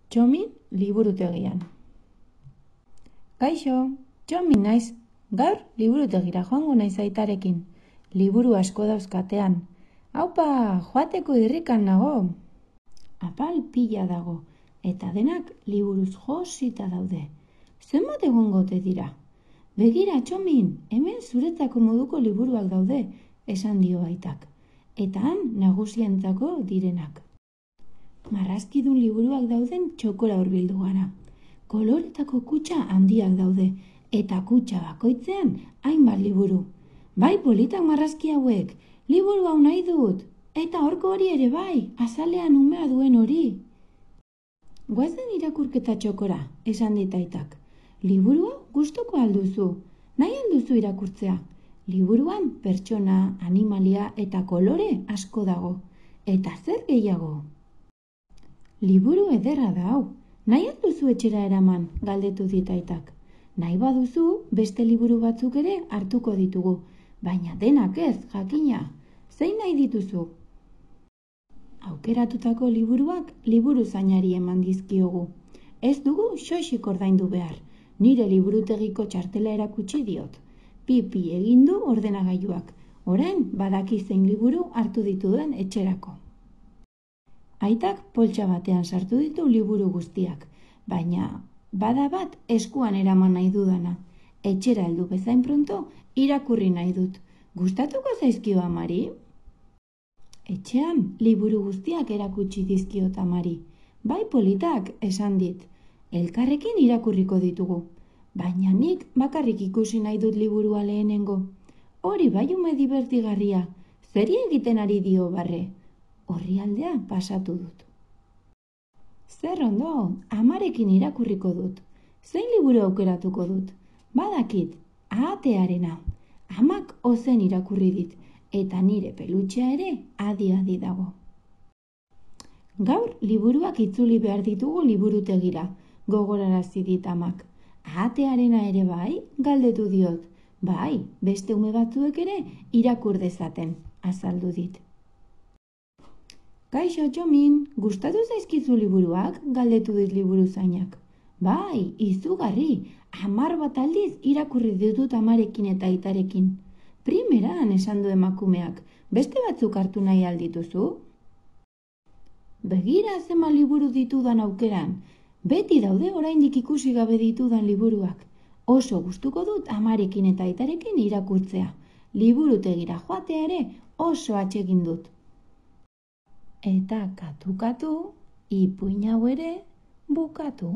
Txomin liburutegian. Kaixo, Txomin naiz. Gaur liburutegira joango naiz aitarekin. Liburu asko dauzkatean. Aupa, joateko irrikan nago. Apal pila dago, eta denak liburuz josita daude. Zenbat egongote dira? Begira, Txomin, hemen zuretzako moduko liburuak daude, esan dio aitak. Eta han nagusientzako direnak. Marrazkidun liburuak dauden txokora hurbildu gara. Koloretako kutxa handiak daude, eta kutxa bakoitzean hainbat liburu. Bai politak marrazki hauek, liburu hau nahi dut, eta horko hori ere bai, azalean umea duen hori. Goazen irakurketa txokora, esan dit aitak. Liburu hau gustuko alduzu, nahi alduzu irakurtzea. Liburuan pertsona, animalia eta kolore asko dago, eta zer gehiago. Liburu ederra da hau, nahi alduzu etxera eraman, galdetu dit aitak. Nahi baduzu, beste liburu batzuk ere hartuko ditugu, baina denak ez, jakina, zein nahi dituzu? Aukeratutako liburuak liburuzainari eman dizkiogu. Ez dugu xoxik ordaindu behar, nire liburutegiko txartela erakutsi diot. Pipi egin du ordenagailuak, orain badaki zein liburu hartu dituen etxerako. Aitak poltsa batean sartu ditu liburu guztiak, baina bada bat eskuan eraman nahi dudana. Etxera heldu bezain pronto irakurri nahi dut. Gustatuko zaizkio amari? Etxean liburu guztiak erakutsi dizkiot amari. Bai politak, esan dit. Elkarrekin irakurriko ditugu. Baina nik bakarrik ikusi nahi dut liburua lehenengo. Hori bai ume divertigarria, zeri egiten ari dio barre. Orrialdea pasatu dut. Zer ondo, amarekin irakurriko dut. Zein liburu aukeratuko dut? Badakit, ahatearena. Amak ozen irakurri dit, eta nire pelutxea ere adi-adi dago. Gaur liburuak itzuli behar ditugu liburutegira, gogorarazi dit amak. Ahatearena ere bai, galdetu diot. Bai, beste ume batzuek ere irakur dezaten, azaldu dit. Kaixo, Txomin, gustatu zaizkizu liburuak, galdetu dit liburuzainak. Bai, izugarri, 10 bat aldiz irakurri ditut amarekin eta aitarekin. Primeran, esan du emakumeak, beste batzuk hartu nahi aldituzu? Begira zema liburu ditudan aukeran, beti daude oraindik ikusi gabe ditudan liburuak. Oso gustuko dut amarekin eta aitarekin irakurtzea. Liburutegira joatea ere oso atsegin dut. Eta katu-katu, ipuin hau ere bukatu.